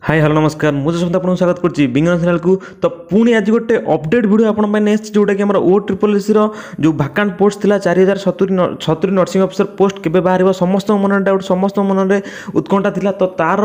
High, hello, ନମସ୍କାର। ମୁଁ ଯଶବନ୍ତ, ଆପଣଙ୍କୁ ସ୍ୱାଗତ କରୁଛି ବିଜ୍ଞାନ ଚ୍ୟାନେଲକୁ। ତ ପୁଣି ଆଜି ଗୋଟେ ଅପଡେଟ୍ ଭିଡ଼ିଓ ଆପଣଙ୍କ ପାଇଁ ନେଇ ଆସିଛି, ଯେଉଁଟାକି ଆମର ଓ ଟ୍ରିପଲ୍ ଏସ୍ସିର ଯେଉଁ ଭାକାଣ୍ଟ ପୋଷ୍ଟ ଥିଲା 4070 70 ନର୍ସିଂ ଅଫିସର ପୋଷ୍ଟ କେବେ ବାହାରିବ, ସମସ୍ତଙ୍କ ମନରେ ଡାଉଟ୍, ସମସ୍ତଙ୍କ ମନରେ ଉତ୍କଣ୍ଠା ଥିଲା। ତ ତାର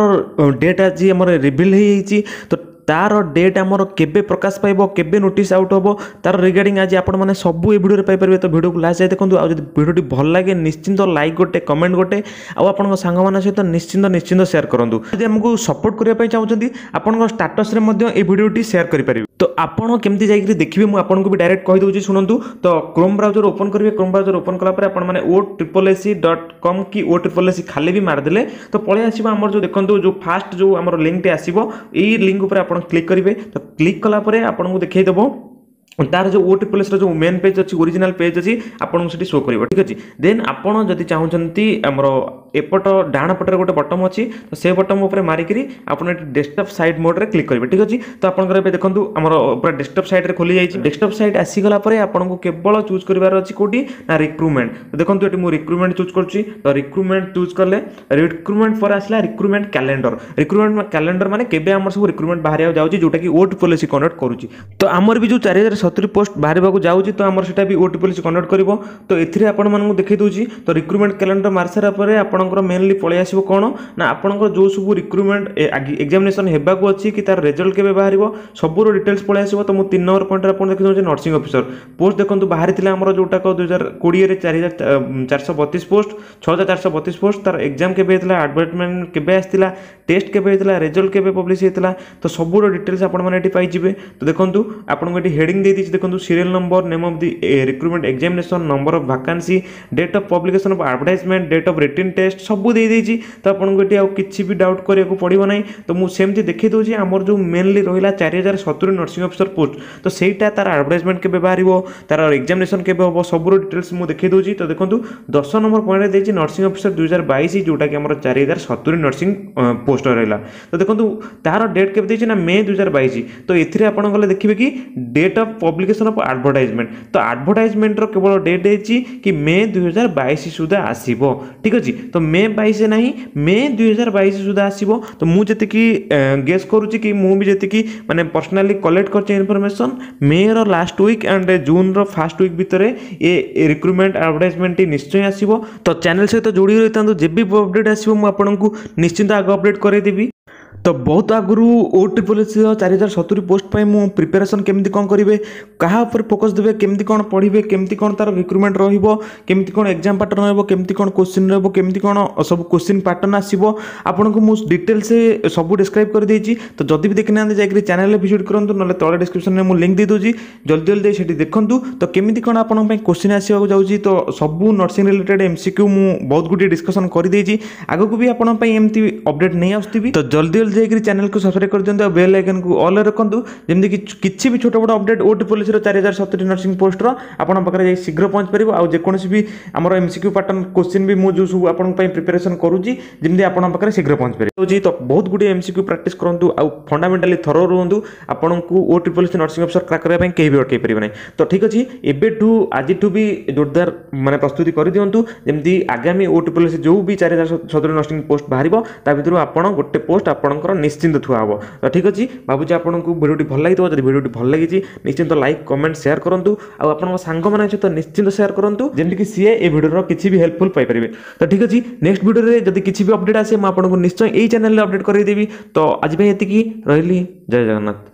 ଡେଟ୍ ଆଜି ଆମର ରିଭିଲ୍ ହେଇଯାଇଛି। ତ ତାର ଡେଟ୍ ଆମର କେବେ ପ୍ରକାଶ ପାଇବ, କେବେ ନୋଟିସ୍ ଆଉଟ୍ ହେବ, ତାର ରିଗାର୍ଡ଼ିଂ ଆଜି ଆପଣମାନେ ସବୁ ଏ ଭିଡ଼ିଓରେ ପାଇପାରିବେ। ତ ଭିଡ଼ିଓକୁ ଲାଷ୍ଟ ଯାଏ ଦେଖନ୍ତୁ। ଆଉ ଯଦି ଭିଡ଼ିଓଟି ଭଲ ଲାଗେ, ନିଶ୍ଚିନ୍ତ ଲାଇକ୍ ଗୋଟେ, କମେଣ୍ଟ ଗୋଟେ ଆଉ ଆପଣଙ୍କ ସାଙ୍ଗମାନଙ୍କ ସହିତ ନିଶ୍ଚିନ୍ତ ନିଶ୍ଚିନ୍ତ ସେୟାର କରନ୍ତୁ। ଯଦି ଆମକୁ ସପୋର୍ଟ କରିବା ପାଇଁ ଚାହୁଁଛନ୍ତି, ଆପଣଙ୍କ ଷ୍ଟାଟସ୍ରେ ମଧ୍ୟ ଏ ଭିଡ଼ିଓଟି ସେୟାର କରିପାରିବେ। ତ ଆପଣ କେମିତି ଯାଇକରି ଦେଖିବେ, ମୁଁ ଆପଣଙ୍କୁ ବି ଡାଇରେକ୍ଟ କହିଦେଉଛି, ଶୁଣନ୍ତୁ। ତ କ୍ରୋମ୍ ବ୍ରାଉଜର ଓପନ୍ କରିବେ। କ୍ରୋମ୍ ବ୍ରାଉଜର ଓପନ୍ କଲା ପରେ ଆପଣମାନେ OSSSC.com କି ଓ ଟ୍ରିପଲ୍ ଏସ୍ ସି ଖାଲି ବି ମାରିଦେଲେ ତ ପଳେଇ ଆସିବ। ଆମର ଯେଉଁ ଦେଖନ୍ତୁ, ଯେଉଁ ଫାଷ୍ଟ ଯେଉଁ ଆମର ଲିଙ୍କଟି ଆସିବ, ଏଇ ଲିଙ୍କ ଉପରେ ଆପଣ କ୍ଲିକ୍ କରିବେ। ତ କ୍ଲିକ୍ କଲା ପରେ ଆପଣଙ୍କୁ ଦେଖେଇଦେବ ତାର ଯେଉଁ ଓ ଟ୍ରିପଲ୍ ଏସ୍ର ଯେଉଁ ମେନ୍ ପେଜ୍ ଅଛି, ଓରିଜିନାଲ୍ ପେଜ୍ ଅଛି, ଆପଣଙ୍କୁ ସେଠି ଶୋ କରିବ। ଠିକ୍ ଅଛି। ଦେନ୍ ଆପଣ ଯଦି ଚାହୁଁଛନ୍ତି, ଆମର ଏପଟ ଡାହାଣ ପଟରେ ଗୋଟେ ବଟନ୍ ଅଛି, ତ ସେ ବଟନ୍ ଉପରେ ମାରିକିରି ଆପଣ ଏଠି ଡେସ୍କଟପ୍ ସାଇଟ୍ ମୋଡ଼ରେ କ୍ଲିକ୍ କରିବେ। ଠିକ୍ ଅଛି। ତ ଆପଣଙ୍କର ଏବେ ଦେଖନ୍ତୁ, ଆମର ପୁରା ଡେସ୍କଟପ୍ ସାଇଟ୍ରେ ଖୋଲି ଯାଇଛି। ଡେସ୍କଟପ୍ ସାଇଟ୍ ଆସିଗଲା ପରେ ଆପଣଙ୍କୁ କେବଳ ଚୁଜ୍ କରିବାର ଅଛି କେଉଁଠି ନା ରିକ୍ରୁଟମେଣ୍ଟ। ତ ଦେଖନ୍ତୁ, ଏଠି ମୁଁ ରିକ୍ରୁଟମେଣ୍ଟ ଚୁଜ୍ କରୁଛି। ତ ରିକ୍ରୁଟମେଣ୍ଟ ଚୁଜ୍ କଲେ ରିକ୍ରୁଟମେଣ୍ଟ ପରେ ଆସିଲା ରିକ୍ରୁଟମେଣ୍ଟ କ୍ୟାଲେଣ୍ଡର। ରିକ୍ରୁଟମେଣ୍ଟ କ୍ୟାଲେଣ୍ଡର ମାନେ କେବେ ଆମର ସବୁ ରିକ୍ରୁଟମେଣ୍ଟ ବାହାରିବାକୁ ଯାଉଛି, ଯେଉଁଟାକି ଓ ଟ୍ରିପଲ୍ ଏସ୍ କଣ୍ଡକ୍ଟ କରୁଛି। ତ ଆମର ବି ଯେଉଁ 4070 ପୋଷ୍ଟ ବାହାରିବାକୁ ଯାଉଛି, ତ ଆମର ସେଟା ବି ଓ ଟ୍ରିପଲ୍ ଏସ୍ କଣ୍ଡକ୍ଟ କରିବ। ତ ଏଥିରେ ଆପଣମାନଙ୍କୁ ଦେଖାଇ ଦେଉଛି। ତ ରିକ୍ରୁଟମେଣ୍ଟ କ୍ୟାଲେଣ୍ଡର ମାରି ସାରିଲା ପରେ ଆପଣଙ୍କର ମେନଲି ପଳେଇ ଆସିବ କ'ଣ ନା ଆପଣଙ୍କର ଯେଉଁ ସବୁ ରିକ୍ରୁଟମେଣ୍ଟ ଏକ୍ଜାମିନେସନ୍ ହେବାକୁ ଅଛି କି ତାର ରେଜଲ୍ଟ କେବେ ବାହାରିବ, ସବୁର ଡିଟେଲ୍ସ ପଳେଇ ଆସିବ। ତ ମୁଁ 3 ନମ୍ବର ପଏଣ୍ଟରେ ଆପଣ ଦେଖି ଦେଉଛି ନର୍ସିଂ ଅଫିସର ପୋଷ୍ଟ। ଦେଖନ୍ତୁ, ବାହାରିଥିଲା ଆମର ଯେଉଁଟାକ 2020ରେ 4432 ପୋଷ୍ଟ, 6432 ପୋଷ୍ଟ। ତାର ଏକ୍ଜାମ୍ କେବେ ହେଇଥିଲା, ଆଡ଼ଭର୍ଟାଇଜମେଣ୍ଟ କେବେ ଆସିଥିଲା, ଟେଷ୍ଟ କେବେ ହେଇଥିଲା, ରେଜଲ୍ଟ କେବେ ପବ୍ଲିଶ ହେଇଥିଲା, ତ ସବୁର ଡିଟେଲ୍ସ ଆପଣମାନେ ଏଠି ପାଇଯିବେ। ତ ଦେଖନ୍ତୁ, ଆପଣଙ୍କୁ ଏଠି ହେଡ଼ିଂ ଦେଇଦେଇଛି। ଦେଖନ୍ତୁ, serial number, name of the recruitment examination, number of vacancy, date of publication of advertisement, date of written test ସବୁ ଦେଇଦେଇଛି। ତ ଆପଣଙ୍କୁ ଏଠି ଆଉ କିଛି ବି ଡାଉଟ୍ କରିବାକୁ ପଡ଼ିବ ନାହିଁ। ତ ମୁଁ ସେମିତି ଦେଖାଇ ଦେଉଛି, ଆମର ଯେଉଁ ମେନଲି ରହିଲା 4070 ନର୍ସିଂ ଅଫିସର ପୋଷ୍ଟ, ତ ସେଇଟା ତାର ଆଡ଼ଭର୍ଟାଇଜମେଣ୍ଟ କେବେ ବାହାରିବ, ତାର ଏକ୍ଜାମିନେସନ୍ କେବେ ହେବ, ସବୁର ଡିଟେଲ୍ସ ମୁଁ ଦେଖାଇ ଦେଉଛି। ତ ଦେଖନ୍ତୁ, 10 ନମ୍ବର ପଏଣ୍ଟରେ ଦେଇଛି ନର୍ସିଂ ଅଫିସର 2022, ଯେଉଁଟାକି ଆମର 4070 ନର୍ସିଂ ପୋଷ୍ଟ ରହିଲା। ତ ଦେଖନ୍ତୁ, ତାର ଡେଟ୍ କେବେ ଦେଇଛି ନା ମେ 2022। ତ ଏଥିରେ ଆପଣ ଗଲେ ଦେଖିବେ କି date of publication of advertisement। ତ ଆଡ଼ଭର୍ଟାଇଜମେଣ୍ଟର କେବଳ ଡେଟ୍ ଦେଇଛି କି ମେ 2022 ସୁଦ୍ଧା ଆସିବ। ଠିକ୍ ଅଛି। ତ ମେ 22 ନାହିଁ, ମେ 2022 ସୁଦ୍ଧା ଆସିବ। ତ ମୁଁ ଯେତିକି ଗେସ୍ କରୁଛି କି ମୁଁ ବି ଯେତିକି ମାନେ ପର୍ସନାଲି କଲେକ୍ଟ କରିଛି ଇନଫର୍ମେସନ୍, ମେର ଲାଷ୍ଟ ୱିକ୍ ଆଣ୍ଡ ଜୁନ୍ର ଫାଷ୍ଟ ୱିକ୍ ଭିତରେ ଏ ରିକ୍ରୁଟମେଣ୍ଟ ଆଡ଼ଭର୍ଟାଇଜମେଣ୍ଟଟି ନିଶ୍ଚୟ ଆସିବ। ତ ଚ୍ୟାନେଲ୍ ସହିତ ଯୋଡ଼ି ରହିଥାନ୍ତୁ। ଯେବେ ବି ଅପଡ଼େଟ୍ ଆସିବ, ମୁଁ ଆପଣଙ୍କୁ ନିଶ୍ଚିନ୍ତ ଆଗ ଅପଡ଼େଟ୍ କରାଇଦେବି। ତ ବହୁତ ଆଗରୁ ଓ ଟ୍ରିପଲ୍ ଏସ୍ସିର 4070 ପୋଷ୍ଟ ପାଇଁ ମୁଁ ପ୍ରିପାରେସନ୍ କେମିତି କ'ଣ କରିବେ, କାହା ଉପରେ ଫୋକସ୍ ଦେବେ, କେମିତି କ'ଣ ପଢ଼ିବେ, କେମିତି କ'ଣ ତା'ର ରିକ୍ରୁଟମେଣ୍ଟ ରହିବ, କେମିତି କ'ଣ ଏକ୍ଜାମ୍ ପାଟର୍ନ ରହିବ, କେମିତି କ'ଣ କୋଶ୍ଚିନ୍ ରହିବ, କେମିତି କ'ଣ ସବୁ କୋଶ୍ଚିନ୍ ପାଟର୍ନ ଆସିବ, ଆପଣଙ୍କୁ ମୁଁ ଡିଟେଲ୍ସ ସବୁ ଡିସ୍କ୍ରାଇବ୍ କରିଦେଇଛି। ତ ଯଦି ବି ଦେଖିନାହାନ୍ତି, ଯାଇକରି ଚ୍ୟାନେଲରେ ଭିଜିଟ୍ କରନ୍ତୁ, ନହେଲେ ତଳେ ଡିସ୍କ୍ରିପ୍ସନରେ ମୁଁ ଲିଙ୍କ୍ ଦେଇଦେଉଛି, ଜଲ୍ଦି ଜଲ୍ଦି ଯାଇ ସେଠି ଦେଖନ୍ତୁ। ତ କେମିତି କ'ଣ ଆପଣଙ୍କ ପାଇଁ କୋଶ୍ଚିନ୍ ଆସିବାକୁ ଯାଉଛି, ତ ସବୁ ନର୍ସିଂ ରିଲେଟେଡ୍ ଏମ୍ସିକ୍ୟୁ ମୁଁ ବହୁତ ଗୁଡ଼ିଏ ଡିସ୍କସନ୍ କରିଦେଇଛି। ଆଗକୁ ବି ଆପଣଙ୍କ ପାଇଁ ଏମିତି ଅପଡ଼େଟ୍ ନେଇ ଆସୁଥିବି। ତ ଜଲ୍ଦି ଜଲ୍ଦି ଯାଇକରି ଚ୍ୟାନେଲକୁ ସବସ୍କ୍ରାଇବ୍ କରିଦିଅନ୍ତୁ ଆଉ ବେଲ୍ ଆଇକନ୍କୁ ଅଲ୍ ରଖନ୍ତୁ, ଯେମିତିକି କିଛି ବି ଛୋଟ ବଡ଼ ଅପଡ଼େଟ୍ ଓ ଟ୍ରିପଲ୍ ଏସ୍ସିର 4070 ନର୍ସିଂ ପୋଷ୍ଟର ଆପଣଙ୍କ ପାଖରେ ଯାଇ ଶୀଘ୍ର ପହଞ୍ଚି ପାରିବ। ଆଉ ଯେକୌଣସି ବି ଆମର ଏମ୍ସିକ୍ୟୁ ପାଟର୍ନ କୋଶ୍ଚିନ୍ ବି ମୁଁ ଯେଉଁ ସବୁ ଆପଣଙ୍କ ପାଇଁ ପ୍ରିପାରେସନ୍ କରୁଛି, ଯେମିତି ଆପଣଙ୍କ ପାଖରେ ଶୀଘ୍ର ପହଞ୍ଚି ପାରିବ। ତ ବହୁତ ଗୁଡ଼ିଏ ଏମ୍ସିକ୍ୟୁ ପ୍ରାକ୍ଟିସ୍ କରନ୍ତୁ ଆଉ ଫଣ୍ଡାମେଣ୍ଟାଲି ଥରୋ ରୁହନ୍ତୁ। ଆପଣଙ୍କୁ ଓ triple S nursing officer crack କରିବା ପାଇଁ କେହି ବି ଅଟକାଇ ପାରିବେ ନାହିଁ। ତ ଠିକ୍ ଅଛି, ଏବେଠୁ ଆଜିଠୁ ବି ଜୋରଦାର ମାନେ ପ୍ରସ୍ତୁତି କରିଦିଅନ୍ତୁ, ଯେମିତି ଆଗାମୀ ଓ ଟ୍ରିପଲ୍ ଏସ୍ ଯେଉଁ ବି 4070 ନର୍ସିଂ ପୋଷ୍ଟ ବାହାରିବ, ତା ଭିତରୁ ଆପଣ ଗୋଟେ ପୋଷ୍ଟ ଆପଣଙ୍କର ନିଶ୍ଚିନ୍ତ ଥୁଆ ହେବ। ତ ଠିକ୍ ଅଛି, ଭାବୁଛି ଆପଣଙ୍କୁ ଭିଡ଼ିଓଟି ଭଲ ଲାଗିଥିବ। ଯଦି ଭିଡ଼ିଓଟି ଭଲ ଲାଗିଛି, ନିଶ୍ଚିନ୍ତ ଲାଇକ୍, କମେଣ୍ଟ, ସେୟାର କରନ୍ତୁ ଆଉ ଆପଣଙ୍କ ସାଙ୍ଗମାନଙ୍କ ସହିତ ନିଶ୍ଚିନ୍ତ ସେୟାର କରନ୍ତୁ, ଯେମିତିକି ସିଏ ଏ ଭିଡ଼ିଓର କିଛି ବି ହେଲ୍ପଫୁଲ୍ ପାଇପାରିବେ। ତ ଠିକ୍ ଅଛି, ନେକ୍ସଟ ଭିଡ଼ିଓରେ ଯଦି କିଛି ବି ଅପଡ଼େଟ୍ ଆସେ, ମୁଁ ଆପଣଙ୍କୁ ନିଶ୍ଚୟ ଏଇ ଚ୍ୟାନେଲରେ ଅପଡ଼େଟ୍ କରାଇଦେବି। ତ ଆଜି ପାଇଁ ଏତିକି ରହିଲି। ଜୟ ଜଗନ୍ନାଥ।